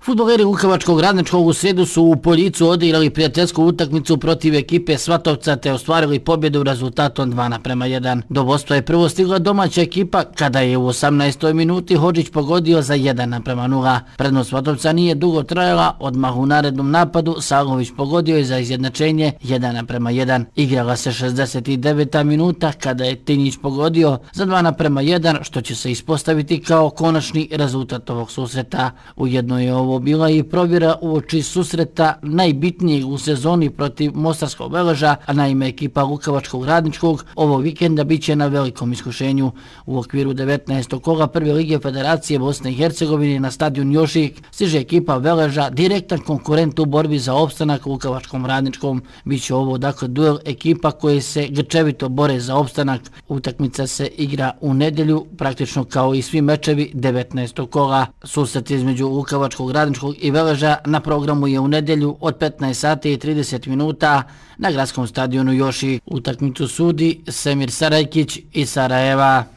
Fudbaleri Lukovačkog Radničkog u srijedu su u Poljicu odigrali prijateljsku utakmicu protiv ekipe Svatovca te ostvarili pobjedu rezultatom 2:1. Do vodstva je prvo stigla domaća ekipa kada je u 18. minuti Hodžić pogodio za 1:0. Prednost Svatovca nije dugo trajala, odmah u narednom napadu Salović pogodio je za izjednačenje 1:1. Igrala se 69. minuta kada je Tinjić pogodio za 2:1, što će se ispostaviti kao konačni rezultat ovog susreta. Ujedno je ovo bila i provjera uoči susreta najbitnijeg u sezoni protiv Mostarskog Veleža, a naime ekipa Lukovačkog Radničkog ovog vikenda bit će na velikom iskušenju. U okviru 19. kola Prve lige Federacije Bosne i Hercegovine na stadion Jošik stiže ekipa Veleža, direktan konkurent u borbi za opstanak Lukovačkom Radničkom. Biće ovo dakle duel ekipa koje se grčevito bore za opstanak. Utakmica se igra u nedjelju, praktično kao i svi mečevi 19. kola. Susret između Lukovačkog Radničkog i Veleža na programu je u nedjelju od 15:30 na gradskom stadionu Jošik. Utakmicu sudi Semir Sarajkić iz Sarajeva.